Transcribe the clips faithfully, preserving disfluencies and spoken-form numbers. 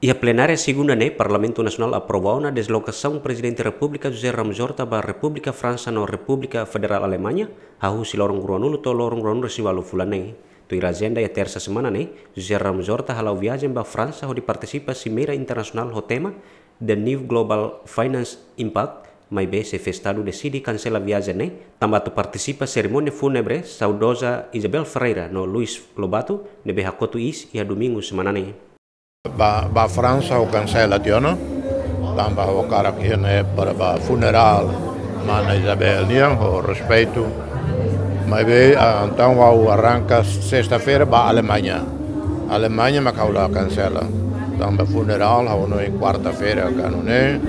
Iha plenária segunda ne'e, Parlamentu Nasionál aprova ona deslokasaun Prezidente Repúblika José Ramos Horta ba Repúblika Fransa no Repúblika Federál Alemaña, hahú husi loron ruanulu to'o loron ruanulu resin ualu fulan ne'e. Tuir ajenda iha tersa semana ne'e, José Ramos Horta hala'o viajen ba Fransa hodi partisipa simeira internasionál ho tema The New Global Finance Impact, maibé xefe Estadu deside kansela viajen ne'e, tanba atu partisipa serimónia fúnebre saudoza Isabel Ferreira no Luís Lobato, ne'ebé hakotu iis iha domingu semana ne'e. Ba, ba Fransa ha'u kansela tiha ona, tanba ha'u hakarak iha ne'e para ba funerál mana Isabel nian, ho respeitu. Maibé, ah, entaun ha'u arranka sesta-feira ba Alemaña. Alemaña mak ha'u la kansela. Tanba funerál ha'u hanoin kuarta-feira ka nune'e.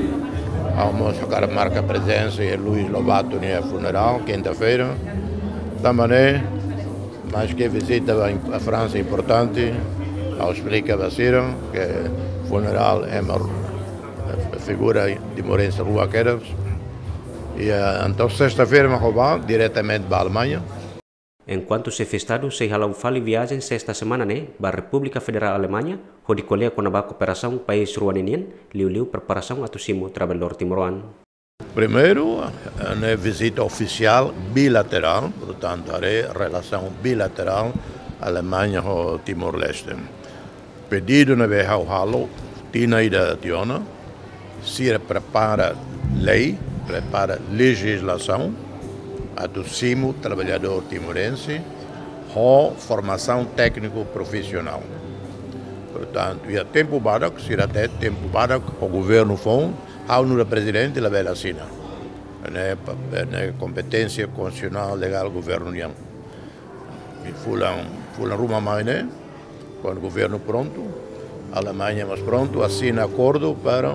Ha'u mós hakarak marka prezensa iha Luís Lobato nia funerál, kinta-feira. Tanba ne'e, maske vizita ba im-, a Fransa importante, ha'u esplika ba sira ke funerál ema, eh, figura timorense rua kedas. I, eh, entaun sesta-feira mak ha'u ba diretamente ba Alemaña. Enkuantu xefe Estadu sei hala'o fali viajen sesta semana ne'e ba Repúblika Federál Alemaña, hodi ko'alia kona-ba kooperasaun país rua ne'e nian, liuliu preparasaun atu simu traballadór timoroan. Primeiru, eh, ne'e vizita ofisiál bilaterál, portantu, haree relasaun bilaterál Alemaña ho Timor-Leste. Pedidu ne'ebé ha'u halo tinan ida tiha ona, sira prepara lei, prepara lejizlasaun, atu simu traballadór timorense ho formasaun tékniku profisionál. Portantu, iha tempu badak, sira hatete tempu badak, ho governu foun, ha'u nu'udar prezidente labele asina. Ne'e pa-, ne'e kompeténsia konstitusionál legál governu nian. I fulan, fulan ruma mai ne'e, kuandu governu prontu, Alemaña mós prontu, asina akordu para,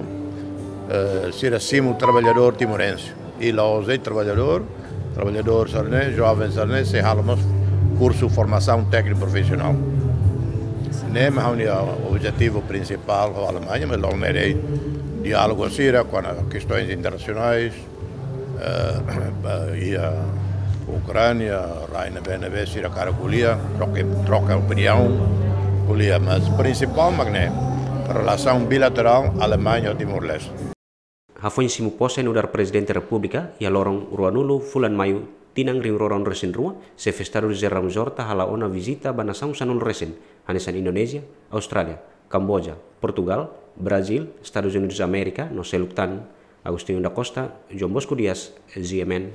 eh, sira simu traballadór timorense. I la'ós de'it traballadór, traballadór sira-ne'e, joven sira-ne'e, sei halo mós kursu formasaun tékniku profisionál. Ne'e mak ha'u-nia objetivu prinsipál ho Alemaña, mas loron ne'e diálogu sira kona-ba kestoins internasionais, eh, iha Ukránia, rai ne'ebé-ne'ebé sira hakarak ko'alia, troka, troka opiniaun, ko'alia, mas prinsipál mak ne'e, relasaun bilaterál Alemaña ho Timor-Leste. Hafoin simu pose nu'udar Prezidente Repúblika, iha loron ruanulu fulan Maiu tinan rihun rua ruanulu resin rua, xefe Estadu José Ramos Horta hala'o ona vizita ba nasaun sanulu resin, hanesan Indonézia, Austrália, Kamboja, Portugál, Brazíl, Estadus Unidus Amérika, no seluk tan. Agostinho da Costa, João Bosco Dias, G M N.